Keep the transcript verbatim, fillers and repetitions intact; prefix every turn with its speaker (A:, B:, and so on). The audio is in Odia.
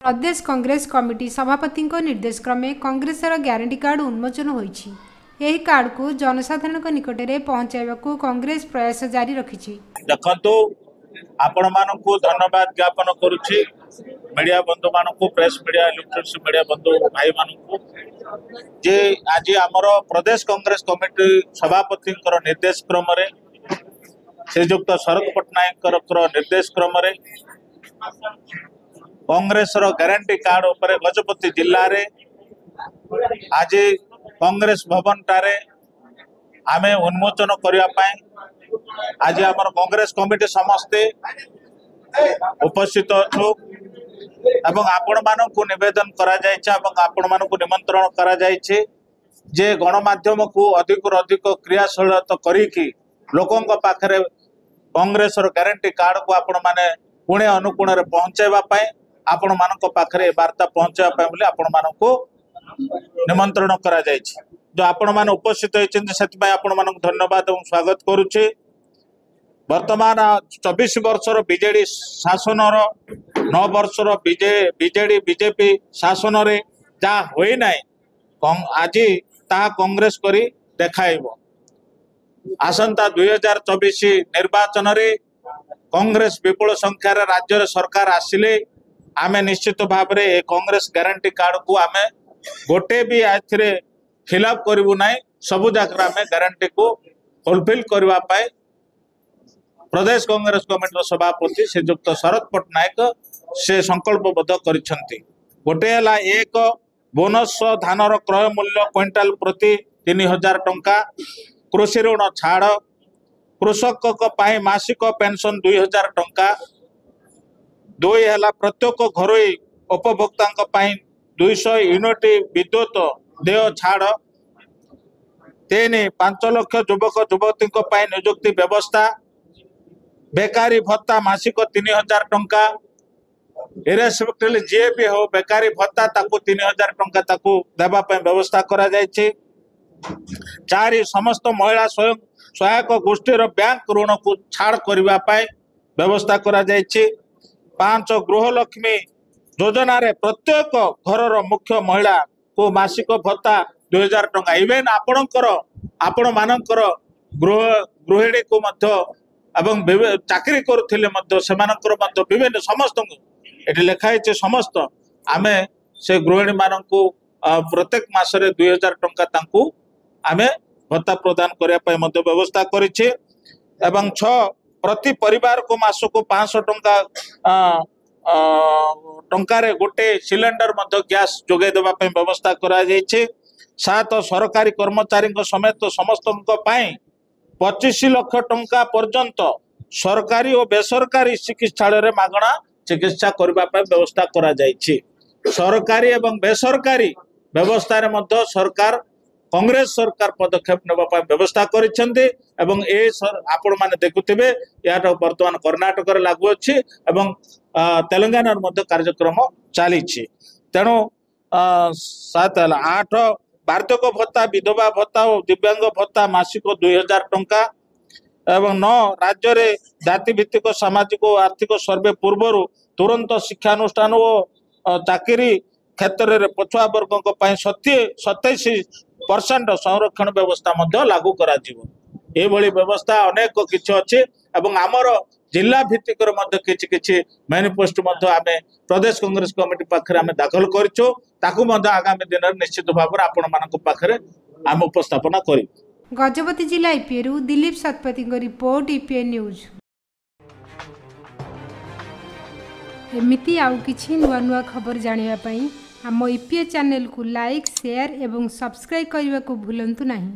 A: ପ୍ରଦେଶ କଂଗ୍ରେସ କମିଟି ସଭାପତିଙ୍କ ନିର୍ଦ୍ଦେଶ କ୍ରମେ କଂଗ୍ରେସର ଗ୍ୟାରେଣ୍ଟି କାର୍ଡ ଉନ୍ମୋଚନ ହୋଇଛି। ଏହି କାର୍ଡକୁ ଜନସାଧାରଣଙ୍କ ନିକଟରେ ପହଞ୍ଚାଇବାକୁ କଂଗ୍ରେସ ପ୍ରୟାସ ଜାରି ରଖିଛି।
B: ଦେଖନ୍ତୁ, ଆପଣମାନଙ୍କୁ ଧନ୍ୟବାଦ ଜ୍ଞାପନ କରୁଛି, ମିଡ଼ିଆ ବନ୍ଧୁମାନଙ୍କୁ, ପ୍ରେସ୍ ମିଡ଼ିଆ, ଇଲେକ୍ଟ୍ରୋନିକ୍ସ ମିଡ଼ିଆ ବନ୍ଧୁ ଭାଇମାନଙ୍କୁ, ଯେ ଆଜି ଆମର ପ୍ରଦେଶ କଂଗ୍ରେସ କମିଟି ସଭାପତିଙ୍କର ନିର୍ଦ୍ଦେଶ କ୍ରମରେ, ଶ୍ରୀଯୁକ୍ତ ଶରତ ପଟ୍ଟନାୟକଙ୍କର ନିର୍ଦ୍ଦେଶ କ୍ରମରେ କଂଗ୍ରେସର ଗ୍ୟାରେଣ୍ଟି କାର୍ଡ ଉପରେ ଗଜପତି ଜିଲ୍ଲାରେ ଆଜି କଂଗ୍ରେସ ଭବନଟାରେ ଆମେ ଉନ୍ମୋଚନ କରିବା ପାଇଁ ଆଜି ଆମର କଂଗ୍ରେସ କମିଟି ସମସ୍ତେ ଉପସ୍ଥିତ ଅଛୁ ଏବଂ ଆପଣମାନଙ୍କୁ ନିବେଦନ କରାଯାଇଛି ଏବଂ ଆପଣମାନଙ୍କୁ ନିମନ୍ତ୍ରଣ କରାଯାଇଛି ଯେ ଗଣମାଧ୍ୟମକୁ ଅଧିକରୁ ଅଧିକ କ୍ରିୟାଶୀଳତା କରିକି ଲୋକଙ୍କ ପାଖରେ କଂଗ୍ରେସର ଗ୍ୟାରେଣ୍ଟି କାର୍ଡକୁ ଆପଣମାନେ କୋଣେ ଅନୁକୋଣରେ ପହଞ୍ଚାଇବା ପାଇଁ, ଆପଣମାନଙ୍କ ପାଖରେ ଏ ବାର୍ତ୍ତା ପହଞ୍ଚାଇବା ପାଇଁ ବୋଲି ଆପଣମାନଙ୍କୁ ନିମନ୍ତ୍ରଣ କରାଯାଇଛି। ଯୋଉ ଆପଣମାନେ ଉପସ୍ଥିତ ହେଇଛନ୍ତି, ସେଥିପାଇଁ ଆପଣମାନଙ୍କୁ ଧନ୍ୟବାଦ ଏବଂ ସ୍ୱାଗତ କରୁଛି। ବର୍ତ୍ତମାନ ଚବିଶ ବର୍ଷର ବିଜେଡି ଶାସନର, ନଅ ବର୍ଷର ବିଜେ ବିଜେଡି ବିଜେପି ଶାସନରେ ଯାହା ହୋଇନାହିଁ, ଆଜି ତାହା କଂଗ୍ରେସ କରି ଦେଖାଇବ। ଆସନ୍ତା ଦୁଇ ହଜାର ଚବିଶ ନିର୍ବାଚନରେ କଂଗ୍ରେସ ବିପୁଳ ସଂଖ୍ୟାରେ ରାଜ୍ୟରେ ସରକାର ଆସିଲେ ଆମେ ନିଶ୍ଚିତ ଭାବରେ ଏ କଂଗ୍ରେସ ଗ୍ୟାରେଣ୍ଟି କାର୍ଡକୁ ଆମେ ଗୋଟେ ବି ଏଥିରେ ଖିଲାପ କରିବୁ ନାହିଁ। ସବୁ ଜାଗାରେ ଆମେ ଗ୍ୟାରେଣ୍ଟିକୁ ଫୁଲଫିଲ୍ କରିବା ପାଇଁ ପ୍ରଦେଶ କଂଗ୍ରେସ କମିଟିର ସଭାପତି ଶ୍ରୀଯୁକ୍ତ ଶରତ ପଟ୍ଟନାୟକ ସେ ସଂକଳ୍ପବଦ୍ଧ କରିଛନ୍ତି। ଗୋଟେ ହେଲା, ଏକ ବୋନସ ଧାନର କ୍ରୟ ମୂଲ୍ୟ କ୍ୱିଣ୍ଟାଲ ପ୍ରତି ତିନି ହଜାର ଟଙ୍କା, କୃଷି ଋଣ ଛାଡ଼, କୃଷକଙ୍କ ପାଇଁ ମାସିକ ପେନସନ ଦୁଇ ହଜାର ଟଙ୍କା। ଦୁଇ ହେଲା, ପ୍ରତ୍ୟେକ ଘରୋଇ ଉପଭୋକ୍ତାଙ୍କ ପାଇଁ ଦୁଇଶହ ୟୁନିଟ ବିଦ୍ୟୁତ ଦେୟ ଛାଡ଼। ତିନି, ପାଞ୍ଚ ଲକ୍ଷ ଯୁବକ ଯୁବତୀଙ୍କ ପାଇଁ ନିଯୁକ୍ତି ବ୍ୟବସ୍ଥା, ବେକାରୀ ଭତ୍ତା ମାସିକ ତିନି ହଜାର ଟଙ୍କା। ଇରେସ୍ପେକ୍ଟିଭ ଯିଏ ବି ହଉ, ବେକାରୀ ଭତ୍ତା ତାକୁ ତିନି ହଜାର ଟଙ୍କା ତାକୁ ଦେବା ପାଇଁ ବ୍ୟବସ୍ଥା କରାଯାଇଛି। ଚାରି, ସମସ୍ତ ମହିଳା ସ୍ୱୟଂ ସହାୟକ ଗୋଷ୍ଠୀର ବ୍ୟାଙ୍କ ଋଣକୁ ଛାଡ଼ କରିବା ପାଇଁ ବ୍ୟବସ୍ଥା କରାଯାଇଛି। ପାଞ୍ଚ, ଗୃହଲକ୍ଷ୍ମୀ ଯୋଜନାରେ ପ୍ରତ୍ୟେକ ଘରର ମୁଖ୍ୟ ମହିଳାକୁ ମାସିକ ଭତ୍ତା ଦୁଇ ହଜାର ଟଙ୍କା। ଇଭେନ୍ ଆପଣଙ୍କର ଆପଣମାନଙ୍କର ଗୃହ ଗୃହିଣୀକୁ ମଧ୍ୟ ଏବଂ ଚାକିରି କରୁଥିଲେ ମଧ୍ୟ ସେମାନଙ୍କର ମଧ୍ୟ, ବିଭିନ୍ନ ସମସ୍ତଙ୍କୁ ଏଠି ଲେଖା ହେଇଛି, ସମସ୍ତ ଆମେ ସେ ଗୃହିଣୀମାନଙ୍କୁ ପ୍ରତ୍ୟେକ ମାସରେ ଦୁଇ ହଜାର ଟଙ୍କା ତାଙ୍କୁ ଆମେ ଭତ୍ତା ପ୍ରଦାନ କରିବା ପାଇଁ ମଧ୍ୟ ବ୍ୟବସ୍ଥା କରିଛି। ଏବଂ ଛଅ, ପ୍ରତି ପରିବାରକୁ ମାସକୁ ପାଞ୍ଚଶହ ଟଙ୍କା ଟଙ୍କାରେ ଗୋଟେ ସିଲିଣ୍ଡର ମଧ୍ୟ ଗ୍ୟାସ୍ ଯୋଗାଇ ଦେବା ପାଇଁ ବ୍ୟବସ୍ଥା କରାଯାଇଛି। ସାତ, ସରକାରୀ କର୍ମଚାରୀଙ୍କ ସମେତ ସମସ୍ତଙ୍କ ପାଇଁ ପଚିଶ ଲକ୍ଷ ଟଙ୍କା ପର୍ଯ୍ୟନ୍ତ ସରକାରୀ ଓ ବେସରକାରୀ ଚିକିତ୍ସାଳୟରେ ମାଗଣା ଚିକିତ୍ସା କରିବା ପାଇଁ ବ୍ୟବସ୍ଥା କରାଯାଇଛି। ସରକାରୀ ଏବଂ ବେସରକାରୀ ବ୍ୟବସ୍ଥାରେ ମଧ୍ୟ ସରକାର, କଂଗ୍ରେସ ସରକାର ପଦକ୍ଷେପ ନେବା ପାଇଁ ବ୍ୟବସ୍ଥା କରିଛନ୍ତି। ଏବଂ ଏ ଆପଣମାନେ ଦେଖୁଥିବେ, ଏହାର ବର୍ତ୍ତମାନ କର୍ଣ୍ଣାଟକରେ ଲାଗୁ ଅଛି ଏବଂ ତେଲେଙ୍ଗାନାରେ ମଧ୍ୟ କାର୍ଯ୍ୟକ୍ରମ ଚାଲିଛି। ତେଣୁ ସାତ ହେଲା। ଆଠ, ବାର୍ଦ୍ଧକ୍ୟ ଭତ୍ତା, ବିଧବା ଭତ୍ତା ଓ ଦିବ୍ୟାଙ୍ଗ ଭତ୍ତା ମାସିକ ଦୁଇ ହଜାର ଟଙ୍କା। ଏବଂ ନଅ, ରାଜ୍ୟରେ ଜାତିଭିତ୍ତିକ ସାମାଜିକ ଓ ଆର୍ଥିକ ସର୍ଭେ ପୂର୍ବରୁ ତୁରନ୍ତ ଶିକ୍ଷାନୁଷ୍ଠାନ ଓ ଚାକିରି କ୍ଷେତ୍ରରେ ପଛୁଆ ବର୍ଗଙ୍କ ପାଇଁ ସତେଇଶ ପରସେଣ୍ଟ ସଂରକ୍ଷଣ ବ୍ୟବସ୍ଥା ମଧ୍ୟ ଲାଗୁ କରାଯିବ। ଏଭଳି ବ୍ୟବସ୍ଥା ଅନେକ କିଛି ଅଛି ଏବଂ ଆମର ଜିଲ୍ଲା ଭିତ୍ତିକରେ ମଧ୍ୟ କିଛି କିଛି ମ୍ୟାନିଫେଷ୍ଟୋ ମଧ୍ୟ ଆମେ ପ୍ରଦେଶ କଂଗ୍ରେସ କମିଟି ପାଖରେ ଆମେ ଦାଖଲ କରିଛୁ। ତାକୁ ମଧ୍ୟ ଆଗାମୀ ଦିନରେ ନିଶ୍ଚିତ ଭାବରେ ଆପଣମାନଙ୍କ ପାଖରେ ଆମେ ଉପସ୍ଥାପନା କରିବୁ।
A: ଗଜପତି ଜିଲ୍ଲା ଇପିଏରୁ ଦିଲ୍ଲୀପ ଶତପଥୀଙ୍କ ରିପୋର୍ଟ, ଇପିଏ ନ୍ୟୁଜ୍। ଏମିତି ଆଉ କିଛି ନୂଆ ନୂଆ ଖବର ଜାଣିବା ପାଇଁ ଆମ ଇପିଏ ଚ୍ୟାନେଲକୁ ଲାଇକ୍, ସେୟାର ଏବଂ ସବସ୍କ୍ରାଇବ୍ କରିବାକୁ ଭୁଲନ୍ତୁ ନାହିଁ।